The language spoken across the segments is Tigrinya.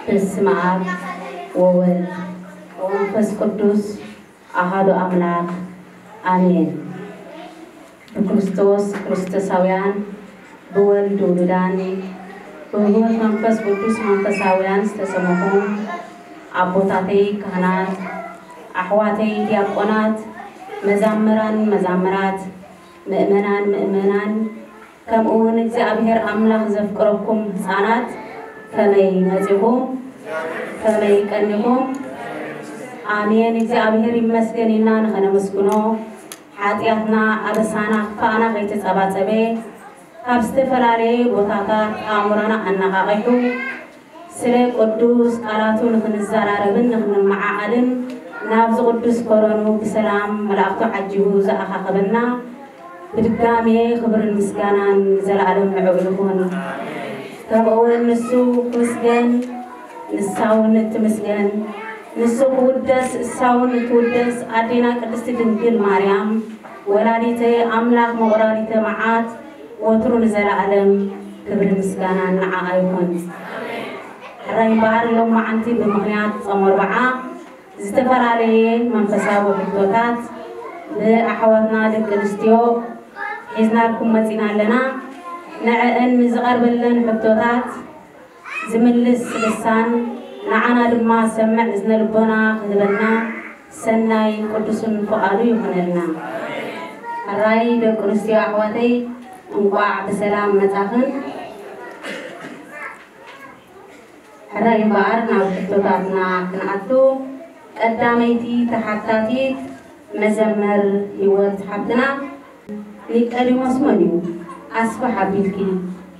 በስመ አብ ወወልድ ወመንፈስ ቅዱስ አሐዱ አምላክ አሜን። ብክርስቶስ ክርስቶሳውያን፣ ብወልድ ውሉዳን፣ ብህይወት መንፈስ ቅዱስ መንፈሳውያን ዝተሰመኹም ኣቦታተይ ካህናት፣ ኣሕዋተይ ዲያቆናት፣ መዛምራን መዛምራት፣ ምእመናን ምእመናን፣ ከምኡ እውን እግዚኣብሔር ኣምላኽ ዘፍቅረኩም ህፃናት ከመይ መፂኹም? ከመይ ቀኒኹም? ኣሜን። እግዚኣብሔር ይመስገን ኢልና ንኸነመስግኖ፣ ሓጢኣትና ኣበሳና ክፋእና ከይተጸባጸበ፣ ካብ ዝተፈላለየ ቦታታት ኣእምሮና ኣነቓቒሑ፣ ስለ ቅዱስ ቃላቱ ንኽንዘራረብን ንኽንመዓዓድን ናብዚ ቅዱስ ከረኑ ብሰላም መላእኽቱ ዓጂቡ ዝኣኻኸበና፣ ብድጋሜ ክብርን ምስጋናን ንዘለኣለም ንዕኡ ይኹን። ከምኡ እውን ንሱ ክምስገን፣ ንሳ እውን እትምስገን፣ ንሱ ክውደስ፣ እሳ እውን እትውደስ ኣዴና ቅድስቲ ድንግል ማርያም ወላዲተ ኣምላኽ መቑራሪተ መዓት ወትሩ ንዘለኣለም ክብሪ ምስጋና ንዓኣ ይኹን። ሕራይ እምበኣር ሎማዓንቲ ብምኽንያት ጾም ኣርብዓ ዝተፈላለየ መንፈሳዊ ሕቶታት ብኣሕዋትና ደቂ ኣንስትዮ ሒዝናልኩም መጺና ኣለና። ንዕአን ንዝቐርበለን ሕቶታት ዝምልስ ልሳን ንዓና ድማ ሰምዕ እዝነ ልቦና ክህበና ሰናይ ቅዱስን ፍቓዱ ይኹነልና። ሕራይ ደቂ ኣንስትዮ ኣሕዋተይ እንቋዕ ብሰላም መጻኽን። ሕራይ እምበኣር ናብ ሕቶታትና ክንኣቱ፣ ቀዳመይቲ ተሓታቲት መዘምር ህይወት ሓብትና፣ ኒቀዲሞስ መን እዩ? ኣስፍሕ ኣቢልኪ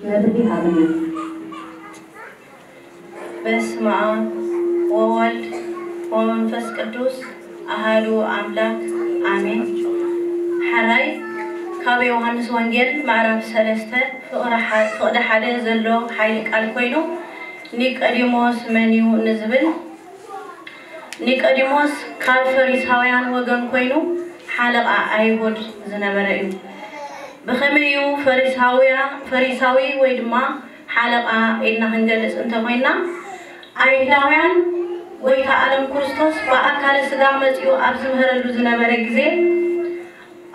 መብርሂ ሃብና። በስመ አብ ወወልድ ወመንፈስ ቅዱስ አሃዱ አምላክ አሜን። ሐራይ ካብ ዮሃንስ ወንጌል ምዕራፍ ሰለስተ ፍቕዲ ሐ-፣ ፍቕዲ ሓደ ዘሎ ኃይሊ ቃል ኮይኑ፣ ኒቆዲሞስ መን እዩ ንዝብል፣ ኒቆዲሞስ ካብ ፈሪሳውያን ወገን ኮይኑ ሓለቓ ኣይሁድ ዝነበረ እዩ። ብኸመይ እዩ ፈሪሳውያ-፣ ፈሪሳዊ ወይ ድማ ሓለቓ ኢልና ክንገልጽ እንተኾይንና፣ ኣይሁዳውያን ጎይታ ዓለም ክርስቶስ ብኣካለ ሥጋ መጺኡ ኣብ ዝምህረሉ ዝነበረ ግዜ፣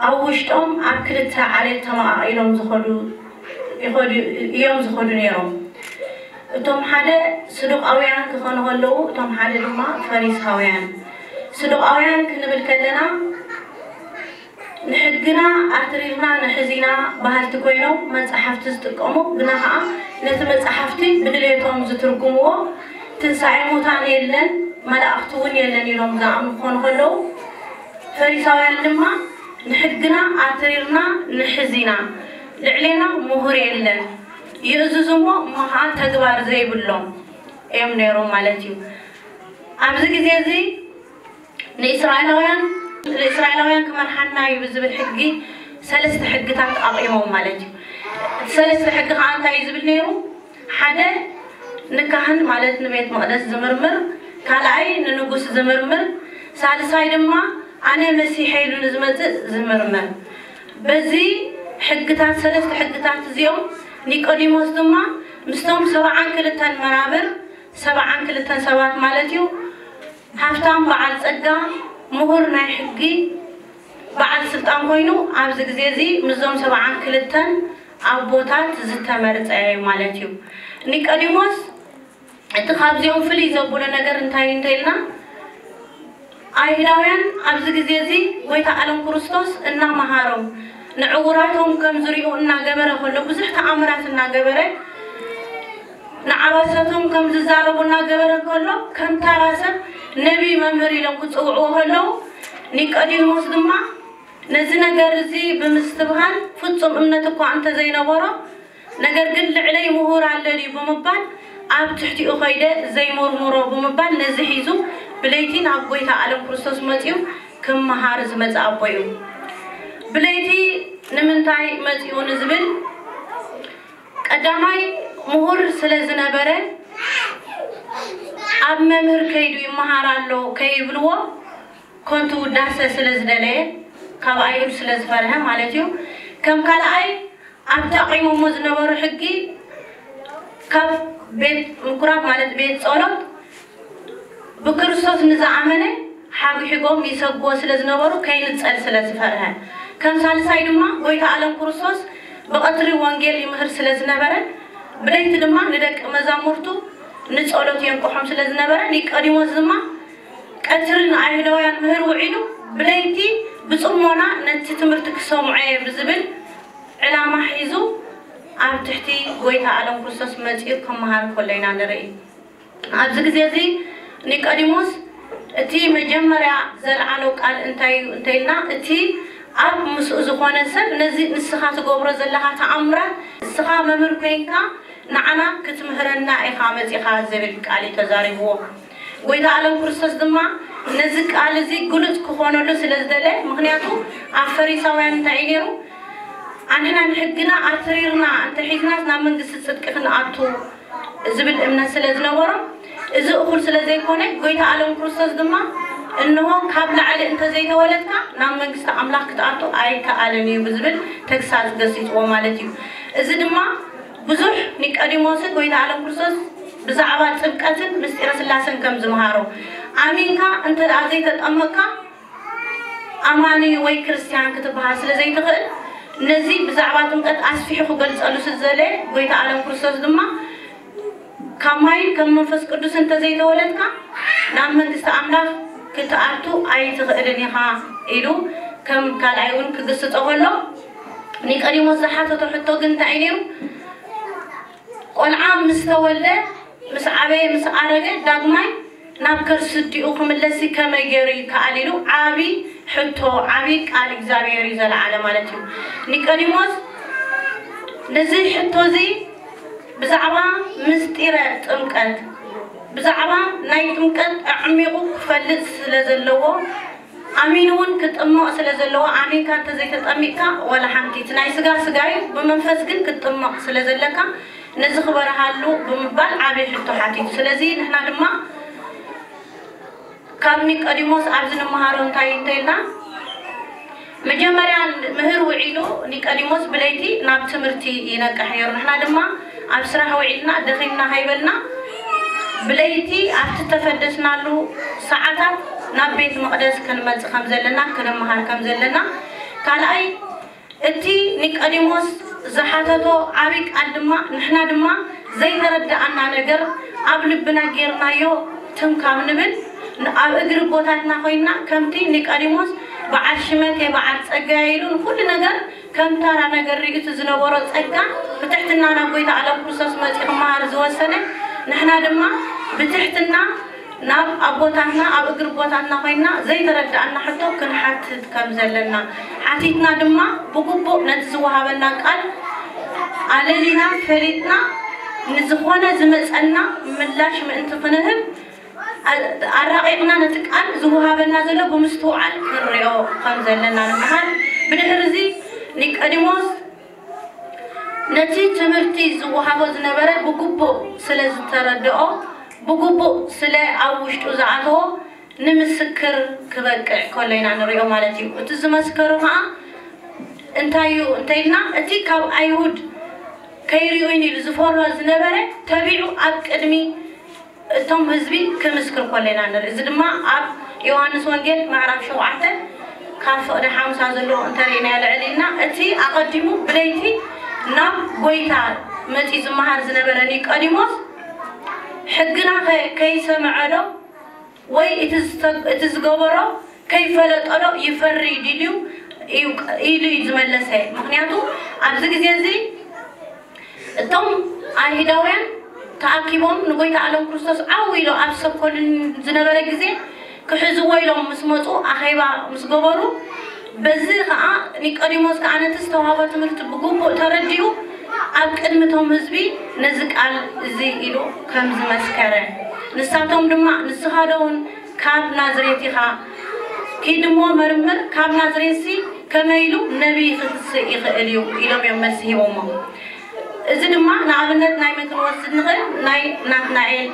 ኣብ ውሽጦም ኣብ ክልተ ዓሌት ተመቓቒሎም ዝኸዱ፣ ይኸዱ፣ እዮም ዝኸዱ ነይሮም። እቶም ሓደ ስዱቃውያን ክኾኑ ከለዉ፣ እቶም ሓደ ድማ ፈሪሳውያን። ስዱቃውያን ክንብል ከለና፣ ንሕግና ኣትሪርና ንሕዚና በሃልቲ ኮይኖም መጻሕፍቲ ዝጥቀሙ፣ ግና ኸዓ ነቲ መጻሕፍቲ ብድሌቶም ዝትርጉምዎ፣ ትንሳኤ ሙታን የለን፣ መላእኽቲ እውን የለን ኢሎም ዝኣምኑ ክኾኑ ከለዉ፣ ፈሪሳውያን ድማ ንሕግና ኣትሪርና ንሕዚና፣ ልዕሌና ምሁር የለን፣ ይእዝዙ እሞ፣ እሞ ኸዓ ተግባር ዘይብሎም እዮም ነይሮም ማለት እዩ። ኣብዚ ግዜ እዚ ንእስራኤላውያን፣ ንእስራኤላውያን ክመርሓና እዩ ብዝብል ሕጊ ሰለስተ ሕግታት ኣቕይሞም ማለት እዩ። እቲ ሰለስተ ሕጊ ከዓ እንታይ እዩ ዝብል ነይሩ? ሓደ፣ ንካህን ማለት ንቤት መቕደስ ዝምርምር፣ ካልኣይ ንንጉስ ዝምርምር፣ ሳልሳይ ድማ ኣነ መሲሐ ኢሉ ንዝመጽእ ዝምርምር። በዚ ሕግታት፣ ሰለስተ ሕግታት እዚኦም ኒቆዲሞስ ድማ ምስቶም ሰብዓን ክልተን መናብር፣ ሰብዓን ክልተን ሰባት ማለት እዩ፣ ሃብታም በዓል ጸጋ፣ ምሁር ናይ ሕጊ፣ በዓል ስልጣን ኮይኑ ኣብዚ ግዜ እዚ ምስዞም ሰብዓን ክልተን ኣቦታት ዝተመርጸ እዩ ማለት እዩ። ኒቆዲሞስ እቲ ካብዚኦም ፍልይ ዘብሎ ነገር እንታይ እንተኢልና፣ ኣይሁዳውያን ኣብዚ ግዜ እዚ ጎይታ ዓለም ክርስቶስ እናመሃሮም፣ ንዕውራቶም ከም ዝሪኡ እናገበረ ከሎ፣ ብዙሕ ተኣምራት እናገበረ፣ ንዓባሰቶም ከም ዝዛረቡ እናገበረ ከሎ፣ ከም ታራ ሰብ ነቢይ መምህር ኢሎም ክጽውዕዎ ከለዉ፣ ኒቆዲሞስ ድማ ነዚ ነገር እዚ ብምስትብሃል፣ ፍጹም እምነት እኳ እንተዘይነበሮ፣ ነገር ግን ልዕለይ ምሁር ኣሎ ድዩ ብምባል፣ ኣብ ትሕቲኡ ከይደ ዘይመርምሮ ብምባል፣ ነዚ ሒዙ ብለይቲ ናብ ጎይታ ኣለም ክርስቶስ መጺኡ ክመሃር ዝመጸ ኣቦ እዩ። ብለይቲ ንምንታይ መጺኡ ንዝብል፣ ቀዳማይ ምሁር ስለ ዝነበረ፣ ኣብ መምህር ከይዱ ይመሃር ኣሎ ከይብልዎ፣ ኮንቱ ውዳሰ ስለ ዝደለየ፣ ካብ ኣይሁድ ስለ ዝፈርሀ ማለት እዩ። ከም ካልኣይ፣ ኣብቲ ኣቑሞሞ ዝነበሩ ሕጊ፣ ካብ ቤት ምኩራብ ማለት ቤት ጸሎት ብክርስቶስ ንዝኣመነ ሓግሒጎም ይሰግዎ ስለ ዝነበሩ፣ ከይንጸል ስለ ዝፈርሀ። ከም ሳልሳይ ድማ፣ ጎይታ ኣለም ክርስቶስ ብቐትሪ ወንጌል ይምህር ስለ ዝነበረ፣ ብለይቲ ድማ ንደቂ መዛሙርቱ ንጸሎት የንቅሖም ስለ ዝነበረ፣ ኒቆዲሞስ ድማ ቀትሪ ንኣይሁዳውያን ምህር ውዒሉ፣ ብለይቲ ብጽሞና ነቲ ትምህርቲ ክሰምዖ እየ ብዝብል ዕላማ ሒዙ ኣብ ትሕቲ ጎይታ ኣለም ክርስቶስ መጺኡ ክመሃር ከሎ ኢና ንርኢ። ኣብዚ ግዜ እዚ ኒቆዲሞስ እቲ መጀመርያ ዘልዓሎ ቃል እንታይ እዩ እንተኢልና፣ እቲ ኣብ ምስኡ ዝኾነ ሰብ ነዚ ንስኻ ትገብሮ ዘለኻ ተኣምራት፣ ንስኻ መምህር ኮይንካ ንዓና ክትምህረና ኢኻ መጺኻ ዝብል ቃል እዩ ተዛሪብዎ። ጎይታ ኣለም ክርስቶስ ድማ ነዚ ቃል እዚ ግሉጽ ክኾነሉ ስለ ዝደለ፣ ምኽንያቱ ኣብ ፈሪሳውያን እንታይ እዩ ነይሩ? ኣንሕና ንሕግና ኣትሪርና እንተሒዝናስ ናብ መንግስቲ ጽድቂ ክንኣቱ ዝብል እምነት ስለ ዝነበሮም፣ እዚ እኹል ስለ ዘይኮነ፣ ጎይታ ኣለም ክርስቶስ ድማ፣ እንሆ፣ ካብ ላዕሊ እንተዘይተወለድካ ናብ መንግስቲ ኣምላኽ ክትኣቱ ኣይከኣልን እዩ ብዝብል ተግሳጽ ገሲጽዎ ማለት እዩ። እዚ ድማ ብዙሕ ኒቆዲሞስን ጎይታ ኣለም ክርስቶስ ብዛዕባ ጥምቀትን ምስጢረ ስላሴን ከም ዝመሃሮ፣ ኣሚንካ እንተ ደኣ ዘይተጠመቅካ ኣማኒ ወይ ክርስትያን ክትበሃል ስለ ዘይትኽእል፣ ነዚ ብዛዕባ ጥምቀት ኣስፊሑ ክገልጸሉ ስለ ዝደለየ፣ ጎይታ ኣለም ክርስቶስ ድማ፣ ካብ ማይን ከም መንፈስ ቅዱስ እንተዘይተወለድካ ናብ መንግስቲ ኣምላኽ ክትኣቱ ኣይትኽእልን ኢኻ ኢሉ ከም ካልኣይ እውን ክግስጾ ከሎ፣ ኒቆዲሞስ ዝሓተቶ ሕቶ ግን እንታይ እዩ ነይሩ? ቆልዓ ምስ ተወልደ፣ ምስ ዓበየ፣ ምስ ኣረገ ዳግማይ ናብ ከርሲ ኣዲኡ ክምለስ ከመይ ገይሩ ይከኣል ኢሉ ዓቢ ሕቶ፣ ዓቢ ቃል እግዚኣብሔር እዩ ዘልዓለ ማለት እዩ። ኒቆዲሞስ ነዚ ሕቶ እዚ ብዛዕባ ምስጢረ ጥምቀት፣ ብዛዕባ ናይ ጥምቀት ኣዕሚቑ ክፈልጥ ስለ ዘለዎ፣ ኣሚኑ እውን ክጥመቕ ስለ ዘለዎ፣ ኣሚንካ እንተዘይተጠሚቕካ ዋላ ሓንቲ፣ እቲ ናይ ስጋ ስጋ እዩ፣ ብመንፈስ ግን ክትጥመቕ ስለ ዘለካ ነዚ ክበርሃሉ ብምባል ዓቢ ሕቶ ሓቲቱ። ስለዚ ንሕና ድማ ካብ ኒቆዲሞስ ኣብዚ ንምሃሮ እንታይ እንተኢልና፣ መጀመርያ ምህር ውዒሉ ኒቆዲሞስ ብለይቲ ናብ ትምህርቲ ይነቅሕ ነይሩ። ንሕና ድማ ኣብ ስራሕ ውዒልና ደኺምና ከይበልና ብለይቲ ኣብቲ ተፈደስናሉ ሰዓታት ናብ ቤት መቕደስ ክንመጽእ ከም ዘለና፣ ክንምሃር ከም ዘለና። ካልኣይ፣ እቲ ኒቆዲሞስ ዝሓተቶ ዓቢ ቃል ድማ፣ ንሕና ድማ ዘይተረድኣና ነገር ኣብ ልብና ጌርናዮ ትም ካብ ንብል፣ ን-፣ ኣብ እግሪ ኣቦታትና ኮይንና፣ ከምቲ ኒቆዲሞስ በዓል ሽመት እየ፣ በዓል ጸጋ እየ ኢሉ ንኹሉ ነገር ከም ተራ ነገር ርእዩ እቲ ዝነበሮ ጸጋ ብትሕትና ናብ ጎይታ ኣለም ክርስቶስ መጺኡ ክመሃር ዝወሰነ፣ ንሕና ድማ ብትሕትና ናብ ኣቦታትና፣ ኣብ እግሪ ኣቦታትና ኮይንና ዘይተረድኣና ሕቶ ክንሓትት ከም ዘለና፣ ሓቲትና ድማ ብግቡእ ነቲ ዝወሃበና ቃል ኣለሊና ፈሊጥና ንዝኾነ ዝመጸና ምላሽ ምእንቲ ክንህብ፣ ኣ-፣ ኣራቒቕና ነቲ ቃል ዝወሃበና ዘሎ ብምስትውዓል ክንሪኦ ከም ዘለና ንምሃር። ብድሕሪ እዚ ኒቆዲሞስ ነቲ ትምህርቲ ዝወሃቦ ዝነበረ ብግቡእ ስለ ዝተረድኦ፣ ብግቡእ ስለ ኣብ ውሽጡ ዝኣተዎ፣ ንምስክር ክበቅዕ ከሎ ኢና ንሪኦ ማለት እዩ። እቲ ዝመስከሮ ኸዓ እንታይ እዩ እንተኢልና፣ እቲ ካብ ኣይሁድ ከይሪኡኒ ኢሉ ዝፈርሆ ዝነበረ ተቢዑ ኣብ ቅድሚ እቶም ህዝቢ ክምስክር ከሎ ኢና ንርኢ። እዚ ድማ ኣብ ዮሃንስ ወንጌል ምዕራፍ ሸውዓተ ካብ ፍቕዲ ሓምሳ ዘለዎ እንተሪእናዮ ልዕል ኢልና፣ እቲ ኣቐዲሙ ብለይቲ ናብ ጎይታ መጺኡ ዝመሃር ዝነበረ ኒቆዲሞስ፣ ሕግና ከ-፣ ከይሰምዐ ዶ ወይ እቲ ዝተ-፣ እቲ ዝገበሮ ከይፈለጠ ዶ ይፈሪ ድዩ? እዩ ኢሉ እዩ ዝመለሰ። ምክንያቱ ኣብዚ ግዜ እዚ እቶም ኣይሁዳውያን ተኣኪቦም ንጎይታ ኣለም ክርስቶስ ዓው ኢሎ ኣብ ሰኮልን ዝነበረ ግዜ ክሕዝዎ ኢሎም ምስ መፁ ኣኼባ ምስ ገበሩ፣ በዚ ከዓ ኒቆዲሞስ ከዓ ነቲ ዝተዋህቦ ትምህርቲ ብግቡእ ተረዲኡ ኣብ ቅድሚ እቶም ህዝቢ ነዚ ቃል እዚ ኢሉ ከም ዝመስከረ፣ ንሳቶም ድማ ንስኻ ዶ እውን ካብ ናዝሬት ኢኻ? ኪድ እሞ መርምር፣ ካብ ናዝሬትሲ ከመይ ኢሉ ነቢይ ክትስእ ይኽእል እዩ ኢሎም እዮም መልሲ ሂቦሞ። እዚ ድማ ንኣብነት ናይ መን ክንወስድ ንኽእል? ናይ ናትናኤል፣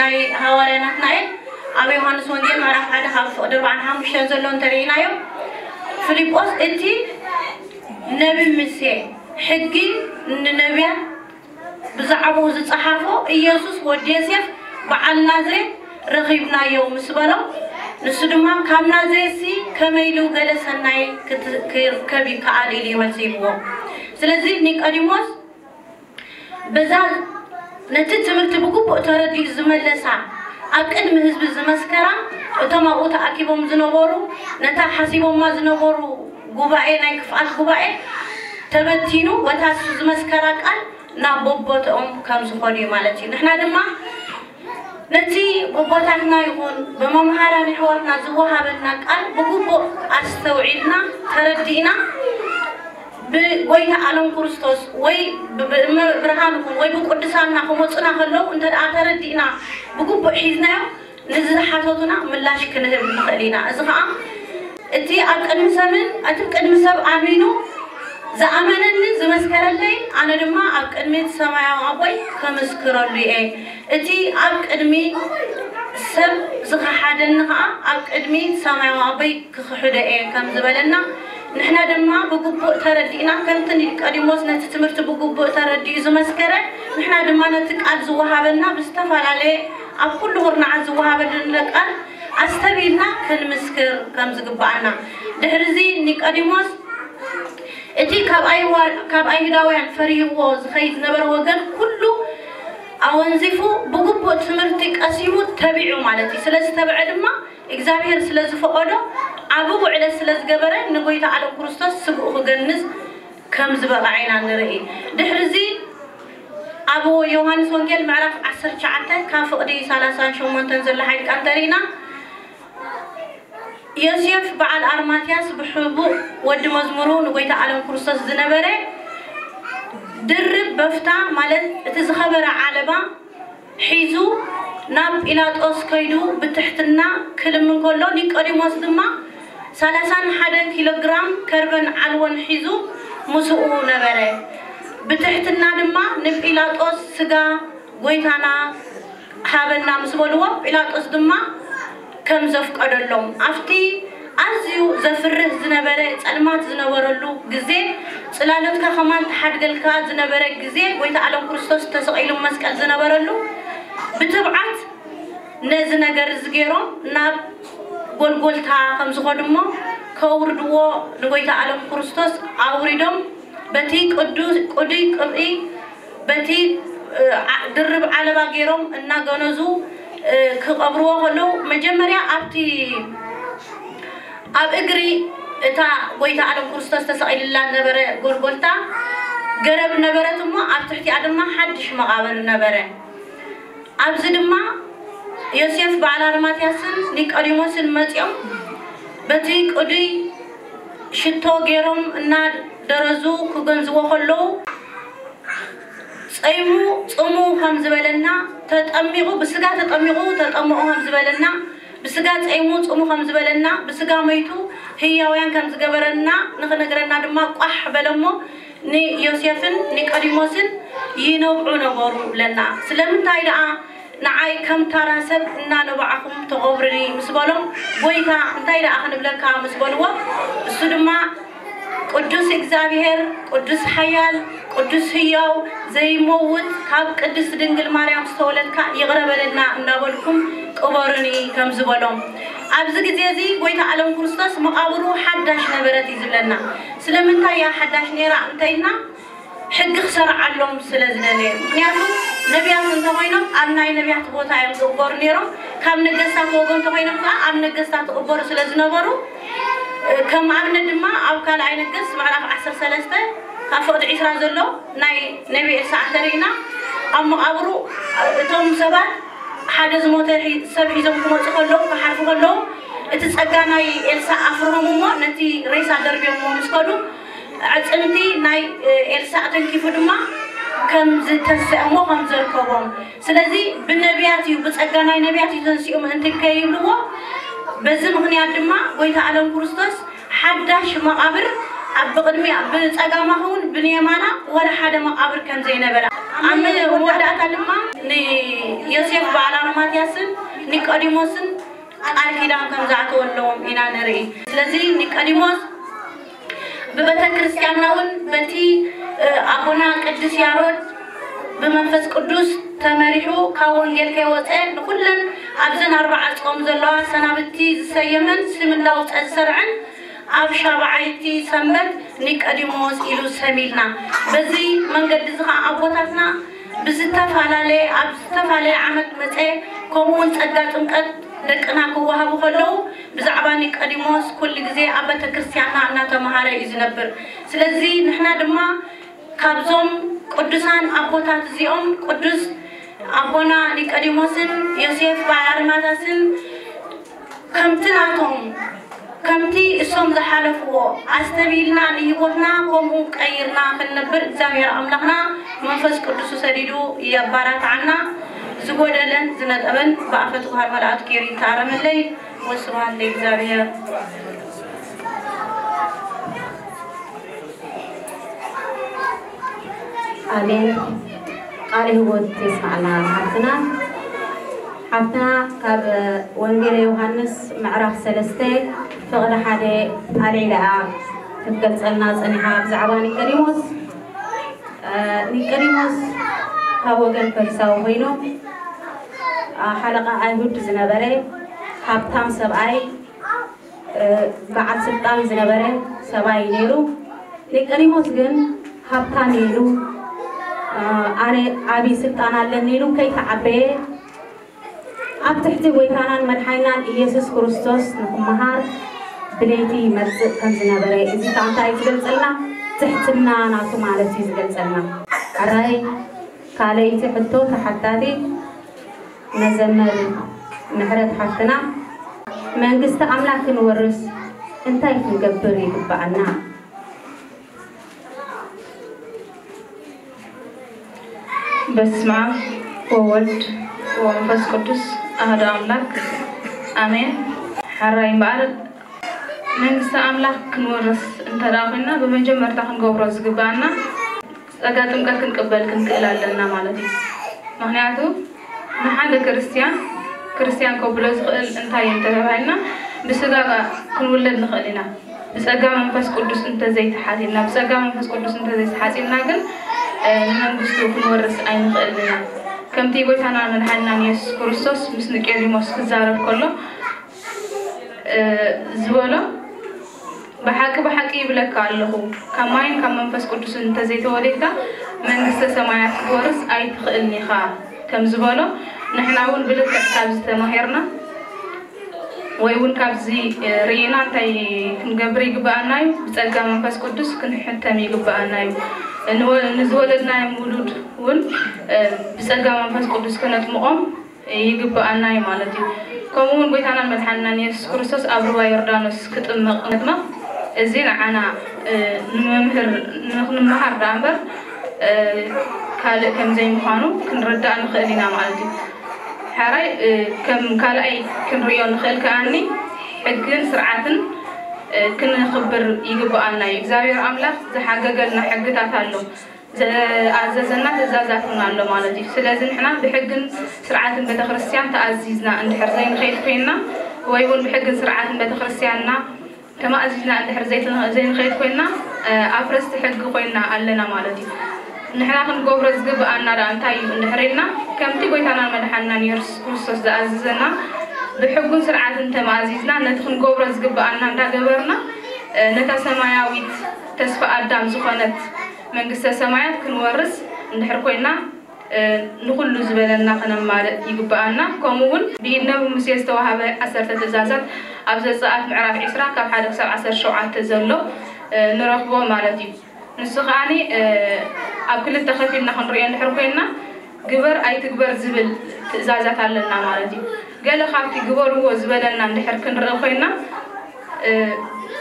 ናይ ሃዋርያ ናትናኤል ኣብ ዮሃንስ ወንጌል ምዕራፍ ሓደ ካብ ፍቕዲ ኣርባዓን ሓሙሽተን ዘሎ እንተርኢናዮ፣ ፊልጶስ እቲ ነቢ ሙሴ ሕጊ ንነቢያት ብዛዕባኡ ዝጸሓፎ ኢየሱስ ወዲ ዮሴፍ በዓል ናዝሬት ረኺብናዮ ምስ በሎ፣ ንሱ ድማ ካብ ናዝሬትሲ ከመይ ኢሉ ገለ ሰናይ ክት- ክርከብ ይከኣል ኢሉ እዩ መልሲ ሂብዎ። ስለዚ ኒቆዲሞስ በዛ ነቲ ትምህርቲ ብግቡእ ተረዲኡ ዝመለሳ ኣብ ቅድሚ ህዝቢ ዝመስከራ እቶም ኣብኡ ተኣኪቦም ዝነበሩ ነታ ሓሲቦማ ዝነበሩ ጉባኤ ናይ ክፍኣት ጉባኤ ተበቲኑ በታ እሱ ዝመስከራ ቃል ናብ ቦቦትኦም ከም ዝኾኑ እዩ ማለት እዩ። ንሕና ድማ ነቲ ቦቦታትና ይኹን ብመምሃራን ኣሕዋትና ዝወሃበና ቃል ብግቡእ ኣስተውዒልና ተረዲእና ብጎይታ ኣለም ክርስቶስ ወይ ብእመ ብርሃን ይኹን ወይ ብቅዱሳንና ክመፁና ከለዉ እንተ ደኣ ተረዲእና ብግቡእ ሒዝናዮ ንዝሓተቱና ምላሽ ክንህብ ንኽእል ኢና። እዚ ኸዓ እቲ ኣብ ቅድሚ ሰብን እቲ ቅድሚ ሰብ ኣሚኑ ዝኣመነኒ ዝመስከረለይ ኣነ ድማ ኣብ ቅድሚ እቲ ሰማያዊ ኣቦይ ከምስክረሉ እየ። እቲ ኣብ ቅድሚ ሰብ ዝኸሓደኒ ኸዓ ኣብ ቅድሚ ሰማያዊ ኣቦይ ክኽሕዶ እየ ከም ዝበለና ንሕና ድማ ብግቡእ ተረዲእና ከምቲ ኒቆዲሞስ ነቲ ትምህርቲ ብግቡእ ተረዲኡ ዝመስከረ ንሕና ድማ ነቲ ቃል ዝወሃበና ብዝተፈላለየ ኣብ ኩሉ ኩርናዓት ዝወሃበልና ቃል ኣስተብሂልና ክንምስክር ከም ዝግብኣና። ድሕሪ እዚ ኒቆዲሞስ እቲ ካብ ኣይዋ- ካብ ኣይሁዳውያን ፈሪህዎ ዝኸይድ ዝነበረ ወገን ኩሉ ኣወንዚፉ ብግቡእ ትምህርቲ ቀሲሙ ተቢዑ ማለት እዩ። ስለ ዝተብዐ ድማ እግዚኣብሔር ስለ ዝፈቐዶ ዓቢ ውዕለት ስለ ዝገበረ ንጎይታ ዓለም ክርስቶስ ስግኡ ክገንዝ ከም ዝበቕዐ ኢና ንርኢ። ድሕሪ እዚ ኣብ ዮሃንስ ወንጌል ምዕራፍ ዓሰርተ ትሽዓተ ካብ ፍቕዲ ሰላሳን ሸሞንተን ዘሎ ሓይሊ ቃል እንተሪእና ዮሴፍ በዓል ኣርማትያስ ብሕቡእ ወዲ መዝሙሩ ንጎይታ ዓለም ክርስቶስ ዝነበረ ድርብ በፍታ ማለት እቲ ዝኸበረ ዓለባ ሒዙ ናብ ጲላጦስ ከይዱ ብትሕትና ክልምን ከሎ ኒቆዲሞስ ድማ ሰላሳን ሓደን ኪሎ ግራም ከርበን ዓልቦን ሒዙ ምስኡ ነበረ። ብትሕትና ድማ ንጲላጦስ ስጋ ጎይታና ሃበና ምስ በልዎ ጲላጦስ ድማ ከም ዘፍቀደሎም ኣብቲ ኣዝዩ ዘፍርህ ዝነበረ ጸልማት ዝነበረሉ ግዜ ጽላሎትካ ከማን ተሓድገልካ ዝነበረ ግዜ ጎይታ ዓለም ክርስቶስ ተሰቒሉ መስቀል ዝነበረሉ ብትብዓት ነዚ ነገር እዚ ገይሮም ናብ ጎልጎልታ ከም ዝኾዱ እሞ ከውርድዎ ንጎይታ ዓለም ክርስቶስ ኣውሪዶም በቲ ቅዱስ ቅዱይ ቅብኢ በቲ ድርብ ዓለባ ገይሮም እናገነዙ ክቐብርዎ ከለዉ መጀመርያ ኣብቲ ኣብ እግሪ እታ ጎይታ ዓለም ክርስቶስ ተሰቒልላ ነበረ ጎልጎልታ ገረብ ነበረት እሞ ኣብ ትሕቲኣ ድማ ሓድሽ መቓብር ነበረ። ኣብዚ ድማ ዮሴፍ በዓል ኣርማትያስን ኒቆዲሞስን መጺኦም በቲ ቅዱይ ሽቶ ገይሮም እናደረዙ ክገንዝዎ ከለዉ ጸይሙ ጽሙ ከም ዝበለና ተጠሚቑ ብስጋ ተጠሚቑ ተጠምቑ ከም ዝበለና ብስጋ ጸይሙ ጽሙ ከም ዝበለና ብስጋ መይቱ ህያውያን ከም ዝገበረና ንኽነግረና ድማ ቋሕ በለሞ ንዮሴፍን ኒቆዲሞስን ይነብዑ ነበሩ ብለና። ስለምንታይ ደኣ ንዓይ ከም ታራ ሰብ እናነባዕኹም ተቐብሩኒ ምስ በሎም፣ ጎይታ እንታይ ደኣ ክንብለካ ምስ በልዎ፣ እሱ ድማ ቅዱስ እግዚኣብሔር፣ ቅዱስ ሓያል፣ ቅዱስ ህያው፣ ዘይመውት፣ ካብ ቅድስት ድንግል ማርያም ዝተወለድካ ይቕረ በለልና እናበልኩም ቅበሩኒ ከም ዝበሎም። ኣብዚ ግዜ እዚ ጎይታ ዓለም ክርስቶስ መቓብሩ ሓዳሽ ነበረት እዩ ዝብለና። ስለምንታይ እያ ሓዳሽ ነይራ እንተኢልና፣ ሕጊ ክሰርዓሎም ስለ ዝደለየ። ምክንያቱ ነቢያት እንተኾይኖም ኣብ ናይ ነቢያት ቦታ እዮም ዝቕበሩ ነይሮም። ካብ ነገስታት ወገን እንተኾይኖም ከዓ ኣብ ነገስታት ይቕበሩ ስለ ዝነበሩ ከም ኣብነት ድማ ኣብ ካልኣይ ነገስ ምዕራፍ ዓሰርተ ሰለስተ ካብ ፍቕዲ ዒስራ ዘሎ ናይ ነቢ ኤልሳዕ እንተሪእና፣ ኣብ መቓብሩ እቶም ሰባት ሓደ ዝሞተ ሒ- ሰብ ሒዞም ክመፁ ከለዉ፣ ክሓልፉ ከለዉ፣ እቲ ጸጋ ናይ ኤልሳዕ ኣፍርሆም እሞ ነቲ ሬሳ ደርብዮምዎ ምስ ከዱ፣ ኣዕጽምቲ ናይ ኤልሳዕ ተንኪፉ ድማ ከም ዝተሰእሞ ከም ዘርከቦም። ስለዚ ብነቢያት እዩ፣ ብጸጋ ናይ ነቢያት እዩ ተንሲኡ ምእንቲ ከይብልዎ፣ በዚ ምኽንያት ድማ ጎይታ ዓለም ክርስቶስ ሓዳሽ መቓብር ኣብ ብቕድሚያ ብጸጋማ ኸውን ብንየማና ወላ ሓደ መቓብር ከም ዘይነበረ፣ ኣብ መወዳእታ ድማ ንዮሴፍ በዓል ኣርማትያስን ኒቆዲሞስን ቃል ኪዳን ከም ዝኣተወለዎም ኢና ንርኢ። ስለዚ ኒቆዲሞስ ብቤተ ክርስቲያንና እውን በቲ ኣቦና ቅዱስ ያሮድ ብመንፈስ ቅዱስ ተመሪሑ ካብ ወንጌል ከይወፀ ንኩለን ኣብዘን ኣርባዓ ጾም ዘለዋ ሰናብቲ ዝሰየመን ስም እንዳውፀ ዝሰርዐን ኣብ ሻብዓይቲ ሰንበት ኒቆዲሞስ ኢሉ ሰሚልና። በዚ መንገዲ እዚ ከዓ ኣቦታትና ብዝተፈላለየ ኣብ ዝተፈላለየ ዓመት መፀ ከምኡ እውን ጸጋ ጥምቀት ደቅና ክወሃቡ ከለዉ ብዛዕባ ኒቆዲሞስ ኩሉ ግዜ ኣብ ቤተ ክርስቲያንና እናተምሃረ እዩ ዝነብር። ስለዚ ንሕና ድማ ካብዞም ቅዱሳን ኣቦታት እዚኦም ቅዱስ ኣቦና ኒቆዲሞስን ዮሴፍ በዓል ኣርማታስን ከምቲ ናቶም ከምቲ እሶም ዝሓለፍዎ ኣስተብሂልና ንህይወትና ከምኡ ቀይርና ክንነብር እግዚኣብሔር ኣምላኽና መንፈስ ቅዱሱ ሰዲዱ የባራትዓና። ዝጎደለን ዝነጠበን ብኣፈ ትጉሃን መላእክት ገይሩ ይተኣረመለይ። ወስብሐት ለእግዚኣብሔር። ኣሜን። ቃለ ህይወት የስማዕና ሓፍትና። ሓፍትና ካብ ወንጌለ ዮሃንስ ምዕራፍ ሰለስተ ፍቕዲ ሓደ ኣልዒላ ክትገልጸልና ጸኒሓ ብዛዕባ ኒቆዲሞስ። ኒቆዲሞስ ካብ ወገን ፈሪሳዊ ኮይኑ ሓለቓ ኣይሁድ ዝነበረ ሃብታም ሰብኣይ በዓል ስልጣን ዝነበረ ሰብኣይ ነይሩ። ኒቆዲሞስ ግን ሃብታም ኢሉ ኣነ ዓብዪ ስልጣን ኣለኒ ኢሉ ከይተዓበየ ኣብ ትሕቲ ጎይታናን መድሓኒናን ኢየሱስ ክርስቶስ ንክመሃር ብለይቲ ይመጽእ ከም ዝነበረ እዚ ከዓ እንታይ እዩ ዝገልጸልና? ትሕትና ናቱ ማለት እዩ ዝገልጸልና። ሕራይ ካልኣይቲ ሕቶ ተሓታቲት መዘመር ምሕረት ሓፍትና መንግስቲ ኣምላክ ክንወርስ እንታይ ክንገብር ይግበኣና? በስመ ኣብ ወወልድ ወመንፈስ ቅዱስ ኣሐዱ ኣምላክ ኣሜን። ሕራይ እምበኣር መንግስቲ ኣምላክ ክንወርስ እንተ ኮይንና ብመጀመርታ ክንገብሮ ዝግበኣና ጸጋ ጥምቀት ክንቅበል ክንክእል ኣለና ማለት እዩ። ምኽንያቱ ንሓደ ክርስትያን ክርስትያን ከብሎ ዝኽእል እንታይ እዩ እንተተባሂልና ብስጋ ክንውለድ ንኽእል ኢና። ብጸጋ መንፈስ ቅዱስ እንተዘይተሓቲልና ብጸጋ መንፈስ ቅዱስ እንተዘይተሓጺብና ግን ንመንግስቱ ክንወርስ ኣይንኽእልን ኢና። ከምቲ ጎይታና መድሓንናን የሱስ ክርስቶስ ምስ ኒቆዲሞስ ክዛረብ ከሎ ዝበሎ ብሓቂ ብሓቂ ይብለካ ኣለኹ ካብ ማይን ካብ መንፈስ ቅዱስን እንተዘይተወሊድካ መንግስተ ሰማያት ክትወርስ ኣይትኽእልን ኢኻ ከም ዝበሎ ንሕና እውን ብልክዕ ካብዚ ተማሂርና ወይ እውን ካብዚ ርኢና እንታይ ክንገብር ይግበኣና እዩ? ብፀጋ መንፈስ ቅዱስ ክንሕተም ይግበኣና እዩ። ንዝወለድናዮም ውሉድ እውን ብፀጋ መንፈስ ቅዱስ ክነጥምቖም ይግበኣና እዩ ማለት እዩ። ከምኡ እውን ጎይታናን መድሓንናን የሱስ ክርስቶስ ኣብ ሩባ ዮርዳኖስ ክጥመቕ መጥመቕ እዚ ንዓና ንመምህር ንክንመሃር ደኣ እምበር ካልእ ከምዘይምዃኑ ክንርዳእ ንኽእል ኢና ማለት እዩ። ሕራይ ከም ካልኣይ ክንርእዮ ንኽእል ከኣኒ ሕግን ስርዓትን ክነኽብር ይግበኣና እዩ። እግዚኣብሔር ኣምላኽ ዝሓገገልና ሕግታት ኣሎ። ዝኣዘዘና ትእዛዛት እውን ኣሎ ማለት እዩ። ስለዚ ንሕና ብሕግን ስርዓትን ቤተክርስትያን ተኣዚዝና እንድሕር ዘይንኸይድ ኮይንና ወይ እውን ብሕግን ስርዓትን ቤተክርስትያንና ተማእዚዝና እንድሕር ዘይንኸይድ ኮይንና ኣፍረስቲ ሕጊ ኮይንና ኣለና ማለት እዩ። ንሕና ክንገብሮ ዝግብኣና ደኣ እንታይ እዩ እንድሕር ኢልና ከምቲ ጎይታናን መድሓንናን የሱስ ክርስቶስ ዝኣዘዘና ብሕጉን ስርዓትን ተማእዚዝና ነቲ ክንገብሮ ዝግብኣና እንዳገበርና ነታ ሰማያዊት ተስፋ ኣዳም ዝኾነት መንግስተ ሰማያት ክንወርስ እንድሕር ኮይና ንኹሉ ዝበለና ከነማልእ ይግብኣና። ከምኡ እውን ብኢድ ነብይ ሙሴ ዝተዋህበ ዓሰርተ ትእዛዛት ኣብ ዘጸኣት ምዕራፍ ዒስራ ካብ ሓደ ክሳብ ዓሰርተ ሸውዓተ ዘሎ ንረኽቦ ማለት እዩ። ንሱ ከኣ ኣብ ክልተ ከፊልና ክንሪኦ እንድሕር ኮይና ግበር ኣይትግበር ዝብል ትእዛዛት ኣለና ማለት እዩ። ገለ ካብቲ ግበርዎ ዝበለና እንድሕር ክንርኢ ኮይና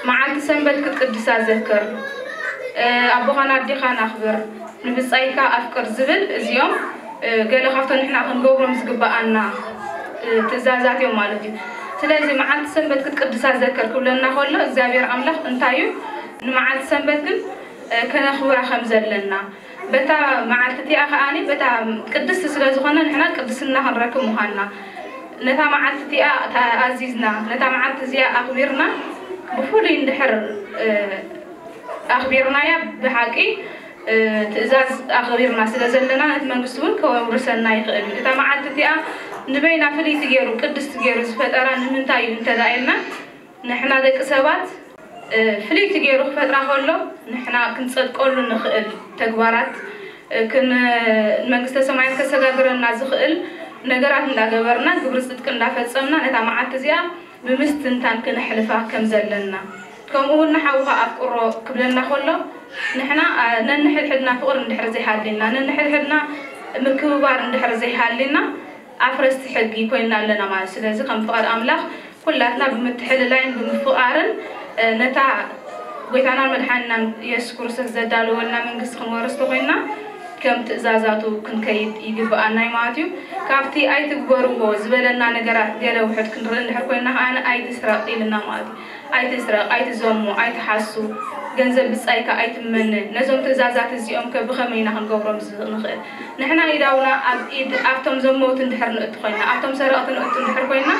መዓልቲ ሰንበት ክትቅድሳ ዘክር፣ ኣቦኻን ኣዴኻን ኣኽብር፣ ንብጻይካ ኣፍቅር ዝብል እዚኦም ገለ ካብቶም ንሕና ክንገብሮም ዝግብኣና ትእዛዛት እዮም ማለት እዩ። ስለዚ መዓልቲ ሰንበት ክትቅድሳ ዘክር ክብለና ከሎ እግዚኣብሔር ኣምላኽ እንታይ እዩ ንመዓልቲ ሰንበት ግን ከነኽብራ ከም ዘለና በታ መዓልቲ እቲኣ ከኣ በታ ቅድስቲ ስለ ዝኾነ ንሕና ቅድስና ክንረክብ ምዃንና ነታ መዓልቲ እቲኣ ኣዚዝና ነታ መዓልቲ እዚኣ ኣኽቢርና ብፍሉይ እንድሕር ኣኽቢርናያ ብሓቂ ትእዛዝ ኣኽቢርና ስለ ዘለና ነቲ መንግስቲ እውን ከውርሰና ይኽእል እዩ። እታ መዓልቲ እቲኣ ንበይና ፍልይቲ ገይሩ ቅድስቲ ገይሩ ዝፈጠራ ንምንታይ እዩ እንተዳ ኢልና ንሕና ደቂ ሰባት ፍልይቲ ገይሩ ክፈጥራ ከሎ ንሕና ክንጸድቀሉ ንኽእል ተግባራት ንመንግስተ ሰማያት ከሰጋግረና ዝኽእል ነገራት እንዳገበርና ግብሪ ጽድቂ እንዳፈጸምና ነታ መዓልቲ እዚኣ ብምስትንታን ክነሕልፋ ከም ዘለና ከምኡ እውን ንሓውኻ ኣፍቅሮ ክብለና ከሎ ንሕና ነንሕድሕድና ፍቕሪ እንድሕር ዘይሃልየና ነንሕድሕድና ምክብባር እንድሕር ዘይሃልየና ኣፍረስቲ ሕጊ ኮይና ኣለና ማለት ስለዚ ከም ፍቓድ ኣምላኽ ኩላትና ብምትሕልላይን ብምፍቓርን ነታ ጎይታናን መድሓኒናን የሱስ ክርስቶስ ዘዳለወልና መንግስቲ ክንወርስ ተኾይንና ከም ትእዛዛቱ ክንከይድ ይግብኣና እዩ ማለት እዩ። ካብቲ ኣይትግበርዎ ዝበለና ነገራት ገለ ውሑድ ክንርኢ እንድሕር ኮይንና ከኣ ኣይትስረቕ ኢልና ማለት እዩ። ኣይትስረቕ፣ ኣይትዘሙ፣ ኣይትሓሱ፣ ገንዘብ ብጻይካ ኣይትመነ። ነዞም ትእዛዛት እዚኦም ከ ብኸመይ ኢና ክንገብሮም ንኽእል? ንሕና ኢዳውና ኣብ ኢድ ኣብቶም ዘመውቲ እንድሕር ንእቱ ኮይና ኣብቶም ሰረቕቲ ንእቱ እንድሕር ኮይና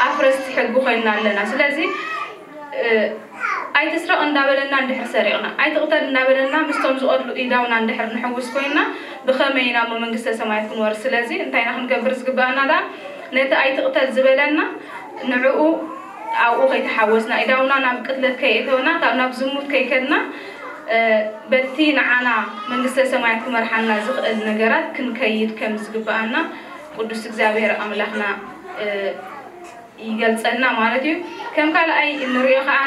ኣፍረስቲ ሕጊ ኮይና ኣለና ስለዚ ኣይትስረቕ እንዳበለና እንድሕር ሰሪቕና ኣይትቕተል እንዳበለና ምስቶም ዝቐትሉ ኢዳውና እንድሕር ንሕውስ ኮይና ብኸመይ ኢና እሞ መንግስተ ሰማያት ክንወርስ ስለዚ እንታይ ኢና ክንገብር ዝግባኣና ደኣ ነቲ ኣይትቕተል ዝበለና ንዕኡ ኣብኡ ከይተሓወስና ኢዳውና ናብ ቅትለት ከየእተወና ካብ ናብ ዝሙት ከይከድና በቲ ንዓና መንግስተ ሰማያት ክመርሓና ዝኽእል ነገራት ክንከይድ ከም ዝግብኣና ቅዱስ እግዚኣብሔር ኣምላኽና ይገልጸልና ማለት እዩ። ከም ካልኣይ እንሪኦ ከኣ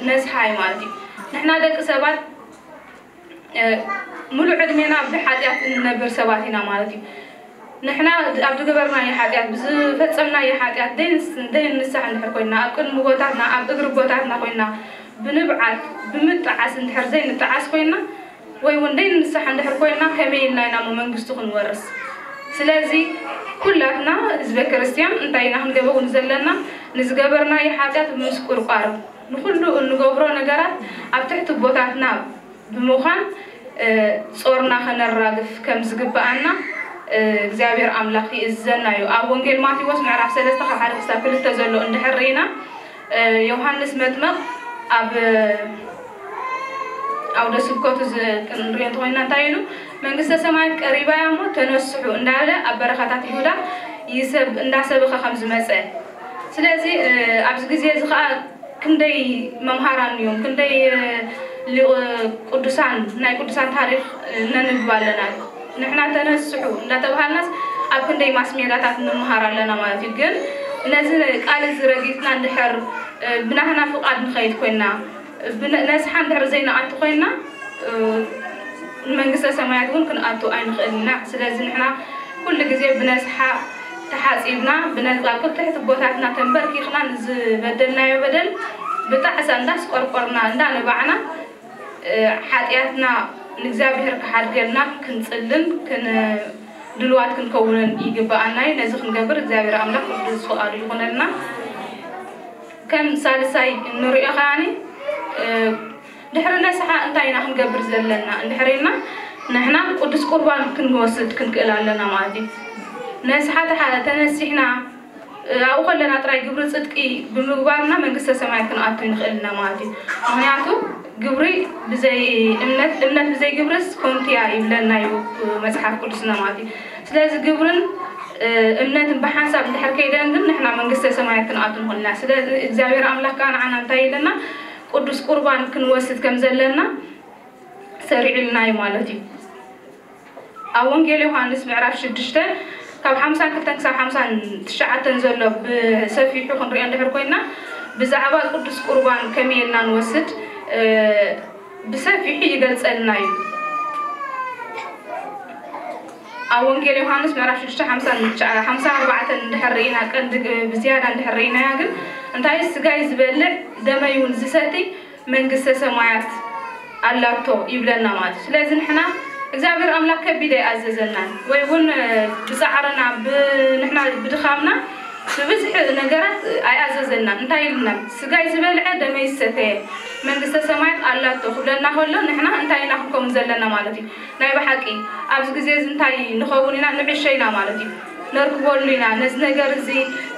ነስሓ እዩ ማለት እዩ። ንሕና ደቂ ሰባት ሙሉእ ዕድሜና ብሓጢኣት እንነብር ሰባት ኢና ማለት እዩ። ንሕና ኣብ ዝገበርናዮ ሓጢኣት ብዝፈጸምናዮ ሓጢኣት ደይንስሕ እንድሕር ኮይና ኣብ ቅድሚ ቦታትና ኣብ እግሪ ቦታትና ኮይና ብንብዓት ብምጥዓስ እንድሕር ዘይንጥዓስ ኮይና ወይ እውን ደይንንሳሕ እንድሕር ኮይና ከመይ ኢልና ኢና እሞ መንግስቱ ክንወርስ? ስለዚ ኩላትና ህዝበ ክርስትያን እንታይ ኢና ክንገበውን ዘለና? ንዝገበርናዮ ሓጢኣት ብምስቁርቋር ንኹሉ እንገብሮ ነገራት ኣብ ትሕቲ ቦታትና ብምዃን ጾርና ከነራግፍ ከም ዝግብኣና እግዚኣብሔር ኣምላኽ ይእዝዘና እዩ። ኣብ ወንጌል ማቴዎስ ምዕራፍ ሰለስተ ካብ ሓደ ክሳብ ክልተ ዘሎ እንድሕር ርኢና ዮሃንስ መጥመቕ ኣብ ኣውደ ስብከቱ ክንሪኦ እንተኮይና እንታይ ኢሉ መንግስተ ሰማያት ቀሪባ እያ እሞ ተነስሑ እንዳበለ ኣብ በረኻታት ይሁዳ ይሰብ እንዳሰበኸ ከም ዝመፀ ስለዚ ኣብዚ ግዜ እዚ ከዓ ክንደይ መምሃራን እዮም ክንደይ ሊቅ ቅዱሳን ናይ ቅዱሳን ታሪክ ነንብብ ኣለና ንሕና ተነስሑ እንዳተባሃልናስ ኣብ ክንደይ ማስሜዳታት ንምሃር ኣለና ማለት እዩ ግን ነዚ ቃል እዚ ረጊፅና እንድሕር ብናህና ፍቃድ ንኸይድ ኮይና ነስሓ እንድሕር ዘይንኣቱ ኮይና ንመንግስተ ሰማያት እውን ክንኣቱ ኣይንኽእል ኢና ስለዚ ንሕና ኩሉ ግዜ ብነስሓ ተሓፂብና ብነፃ ኣብ ትሕቲ ቦታትና ተንበርኪኽና ንዝበደልናዮ በደል ብጣዕሳ እንዳስቆርቆርና እንዳነባዕና ሓጢኣትና ንእግዚኣብሔር ክሓድገልና ክንፅልን ድልዋት ክንከውንን ይግብኣና እዩ ነዚ ክንገብር እግዚኣብሔር ኣምላኽ ቅዱስ ፍቓዱ ይኹነልና ከም ሳልሳይ እንሪኦ ከዓኒ ድሕሪ ነስሓ እንታይ ኢና ክንገብር ዘለና እንድሕር ኢልና ንሕና ቅዱስ ቁርባን ክንወስድ ክንክእል ኣለና ማለት እዩ ነስሓ ተነሲሕና ኣብኡ ከለና ጥራይ ግብሪ ፅድቂ ብምግባርና መንግስተ ሰማያት ክንኣቱ ንኽእል ኢና ማለት እዩ ምክንያቱ ግብሪ ብዘይ እምነት እምነት ብዘይ ግብርስ ኮንቲያ ይብለና እዩ መፅሓፍ ቅዱስና ማለት እዩ ስለዚ ግብርን እምነትን ብሓንሳብ እንድሕር ከይደን ግን ንሕና መንግስተ ሰማያት ክንኣቱ ንኽእል ኢና ስለዚ እግዚኣብሔር ኣምላኽ ከዓ ንዓና እንታይ ኢለና ቅዱስ ቁርባን ክንወስድ ከም ዘለና ሰሪዑልና እዩ ማለት እዩ ኣብ ወንጌል ዮሃንስ ምዕራፍ ሽዱሽተ ካብ ሓምሳን ክልተን ክሳብ ሓምሳን ትሽዓተን ዘሎ ብሰፊሑ ክንሪኦ እንድሕር ኮይና፣ ብዛዕባ ቅዱስ ቁርባን ከመይ ኢልና ንወስድ፣ እ፣ ብሰፊሑ ይገልጸልና እዩ። ኣብ ወንጌል ዮሃንስ ምዕራፍ ሽዱሽተ ሓምሳን ትሽዓ፣ ሓምሳን ኣርባዕተን እንድሕር ርኢና፣ ቀንዲ ግ-፣ ብዝያዳ እንድሕር ርኢናያ ግን፣ እንታይ፣ ስጋይ ዝበልዕ ደመይ እውን ዝሰትይ መንግስተ ሰማያት ኣላቶ ይብለና ማለት እዩ። ስለዚ ንሕና እግዚኣብሔር ኣምላኽ ከቢድ ኣይኣዘዘናን፣ ወይ እውን፣ እ፣ ብጻዕርና፣ ብ-፣ ንሕና ብድኻምና ብብዝሒ ነገራት ኣይኣዘዘናን። እንታይ ኢልና? ስጋይ ዝበልዐ ደመይ ዝሰተየ መንግስተ ሰማያት ኣላቶ ክብለና ከሎ፣ ንሕና እንታይ ኢና ክንከውን ዘለና ማለት እዩ? ናይ ብሓቂ ኣብዚ ግዜ እዚ እንታይ ንኸውን ኢና? ንዕሸ ኢና ማለት እዩ። ነርክበሉ ኢና። ነዚ ነገር እዚ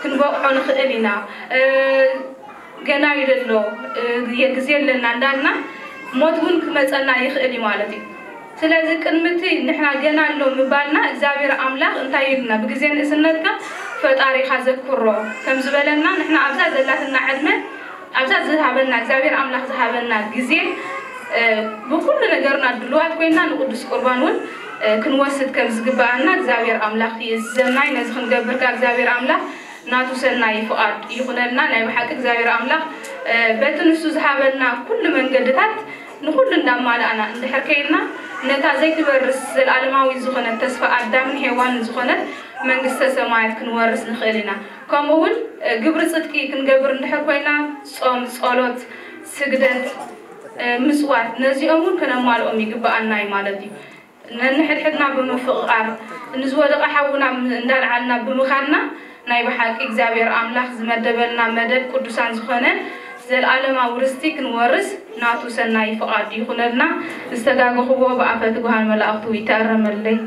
ክንበቕዖ ንኽእል ኢና። እ፣ ገና እዩ ዘሎ፣ እ፣ ግዜ ኣለና እንዳልና ሞት እውን ክመጸና ይኽእል እዩ ማለት እዩ። ስለዚ ቅድሚ እቲ ንሕና ገና ኣሎ ምባልና እግዚኣብሔር ኣምላኽ እንታይ ኢሉና? ብግዜ ንእስነትካ ፈጣሪኻ ዘክሮ ከም ዝበለና ንሕና ኣብዛ ዘላትና ዕድመ፣ ኣብዛ ዝሃበና እግዚኣብሔር ኣምላኽ ዝሃበና ግዜ፣ እ፣ ብኩሉ ነገርና ድልዋት ኮይንና ንቅዱስ ቁርባን እውን፣ እ፣ ክንወስድ ከም ዝግበኣና እግዚኣብሔር ኣምላኽ ይእዝዘና እዩ። ነዚ ክንገብር ከኣ እግዚኣብሔር ኣምላኽ ናቱ ሰናይ ፍቓድ ይኹነልና። ናይ ብሓቂ እግዚኣብሔር ኣምላኽ፣ እ፣ በቲ ንሱ ዝሃበና ኩሉ መንገድታት ንኹሉ እንዳማላእና እንድሕር ከይድና፣ ነታ ዘይትበርስ ዘልኣለማዊ ዝኾነት ተስፋ ኣዳምን ሄዋንን ዝኾነት መንግስተ ሰማያት ክንወርስ ንኽእል ኢና። ከምኡ እውን፣ እ፣ ግብሪ ጽድቂ ክንገብር እንድሕር ኮይና፣ ጾም፣ ጸሎት፣ ስግደት፣ እ፣ ምጽዋት፣ ነዚኦም እውን ከነማልኦም ይግበኣና እዩ ማለት እዩ። ነንሕድሕድና ብምፍቕቓር፣ ንዝወደቐ ሓውና እንዳልዓልና ብምኻድና፣ ናይ ብሓቂ እግዚኣብሔር ኣምላኽ ዝመደበልና መደብ ቅዱሳን ዝኾነ ዘልኣለማዊ ርስቲ ክንወርስ ናቱ ሰናይ ፍቓድ ይኹነልና። ዝተጋገኹዎ ብኣፈ ትጉሃን መላእኽቱ ይተኣረመለይ።